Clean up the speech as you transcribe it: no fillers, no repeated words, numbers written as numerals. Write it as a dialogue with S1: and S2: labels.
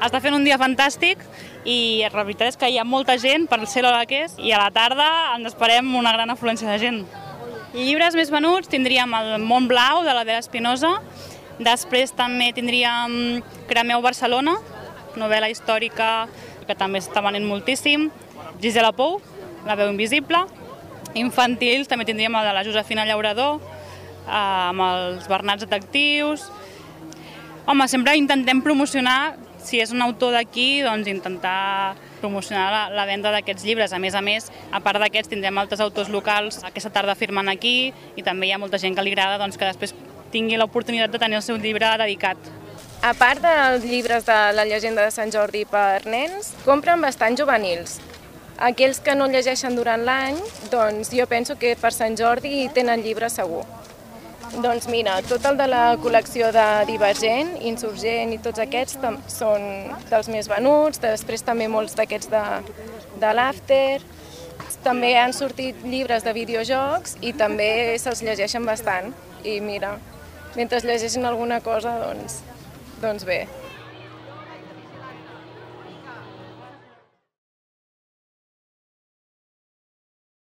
S1: Està fent un dia fantàstic i la veritat és que hi ha molta gent per ser l'hora que és i a la tarda ens esperem una gran afluència de gent. Llibres més venuts tindríem el Mont Blau de la Vera Espinosa, després també tindríem Cremeu Barcelona, novel·la històrica que també està venent moltíssim, Gisela Pou, La veu invisible, infantils també tindríem el de la Josefina Llaurador, amb els Bernats detectius. Home, sempre intentem promocionar, si és un autor d'aquí, doncs intentar promocionar la venda d'aquests llibres. A més, a part d'aquests tindrem altres autors locals aquesta tarda firmant aquí i també hi ha molta gent que li agrada que després tingui l'oportunitat de tenir el seu llibre dedicat.
S2: A part dels llibres de la llegenda de Sant Jordi per nens, compren bastant juvenils. Aquells que no llegeixen durant l'any, doncs jo penso que per Sant Jordi tenen llibre segur. Doncs mira, tot el de la col·lecció de Divergent, Insurgent i tots aquests són dels més venuts, després també molts d'aquests de l'After. També han sortit llibres de videojocs i també se'ls llegeixen bastant. I mira, mentre llegeixen alguna cosa, doncs bé.